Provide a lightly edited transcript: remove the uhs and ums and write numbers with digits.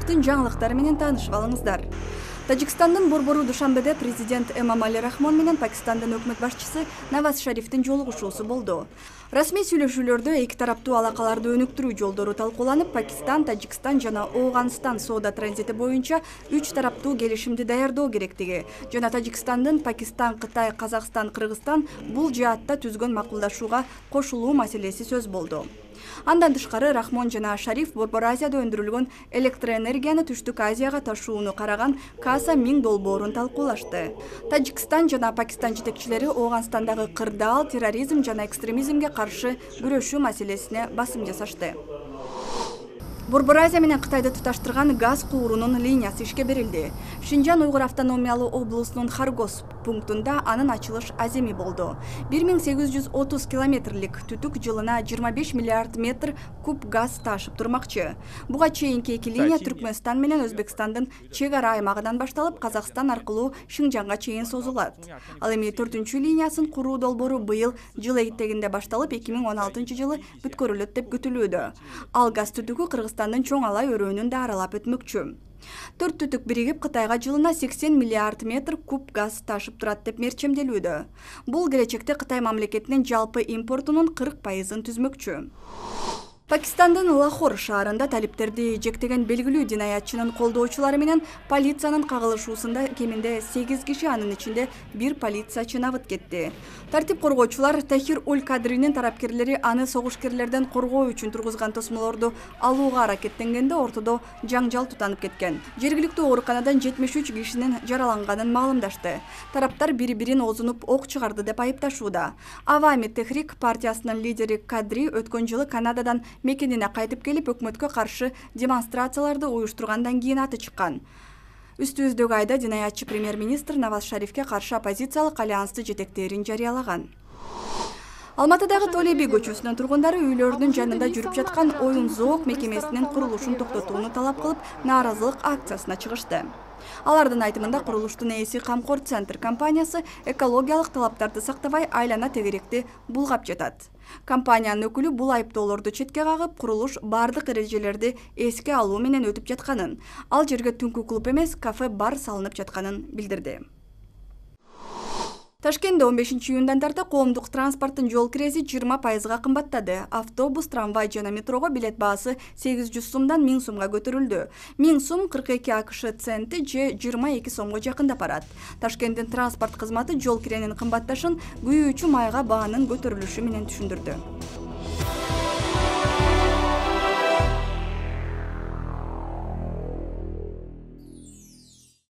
Шарифтин жаңылыктары менен таанышып алыңыздар. Тажикстандын борбору Душанбеде президент Эмомали Рахмон менен Пакистандын өкмөт башчысы Наваз Шарифтин жолугушуусу болду. Расмий сүйлөшүүлөрдө эки тараптуу алакаларды өнүктүрүү жолдору талкууланып, Пакистан, Тажикстан жана Ооганстан соода транзити боюнча 3 тараптуу келишимди даярдоо керектиги жана Тажикстандын Пакистан, Кытай, Казакстан, Кыргызстан бул жаатта түзгөн макулдашууга кошулуу маселеси сөз болду. Андан тышкары Рахмон жана Шариф Борбор Азияда өндүрүлгөн электроэнергияны Түштүк Азияга ташууну караган Каса 1000 долбоорун талкуулашты. Тажикстан жана Пакистан жетекчилери Ооганстандагы кырдаал, терроризм жана экстремизмге каршы күрөшүү маселесине басым жасашты. Борбор Азия менен Кытайды туташтырган газ куурунун линиясы ишке берилди. Шинжан Уйгур автономиялуу облусунун Харгос пунктунда анын ачылыш аземи болду. 1830 километрлик түтүк жылына 25 миллиард метр куб газ ташып турмакчы. Буга чейинки эки линия Түркмөнстан менен Өзбекстандын чек ара аймагынан башталып, Казакстан аркылуу Шинжанга чейин созулат. Ал эми 4-чү линиясын куруу долбоору быйыл жыл этегинде башталып, 2016-жылы бүткөрүлөт деп күтүлүүдө. Ал газ түтүкү Кыргызстандын Чоң Алай өрөөнүн да аралап өтмөкчү. 4 түтүк биригип Кытайга жылына 80 миллиард метр куб газ ташып турат деп мерчемделүүдө. Бул келечекте Кытай мамлекетинин жалпы импортунун 40% түзмөкчү. Пакистандын Лахор шаарында талиптерди жектеген белгилүү динаятчынын колдоочулары менен полициянын кагылышуусунда кеминде 8 киши, анын ичинде 1 полициячы набыт кетти. Тартип коргоочулар Тахир Уль-Кадринин тарапкерлери аны согушкерлерден коргоо үчүн тургузган тосмолорду алууга аракеттенгенде ортодо жаңжал тутанып кеткен. Жергиликтүү ооруканадан 73 кишинин жараланганын маалымдашты. Тараптар бири-бирин оозунуп ок чыгарды деп айыпташууда. Авами Техрик партиясынын лидери Кадри өткөн жылы Канададан мекенине кайтып келип, өкмөткө каршы демонстрацияларды уюштургандан кийин аты чыккан. Үстүбүздөгү айда динаятчы премьер-министр Наваз Шарифке каршы оппозициялык альянсты жетектерин жарыялаган. Алматыдагы Толеби көчөсүнүн тургундары үйлөрүнүн жанында жүрүп жаткан оюн зоок мекемесинин курулушун токтотууну талап кылып, нааразылык акциясына чыгышты. Алардын айтымында курулуштун ээси Камкор Центр компаниясы экологиялык талаптарды сактабай, айлана тегеректи булгап жатат. Компаниянын өкүлү бул айыптоолорду четке кагып, курулуш бардык эрежелерди эске алуу менен өтүп жатканын, ал жерге түнкү клуб эмес, кафе-бар салынып жатканын билдирди. Ташкентте 15-июндан тарта коомдук транспорттун жол кирези 20% кымбаттады. Автобус, трамвай жана метрого билет баасы 800 сумдан 1000 сумга көтөрүлдү. 1000 сум 42 АКШ центи же 22 сомго жакындап барат. Ташкенттин транспорт кызматы жол киренин кымбатташын күйүүчү майга баанын көтөрүлүшү менен түшүндүрдү.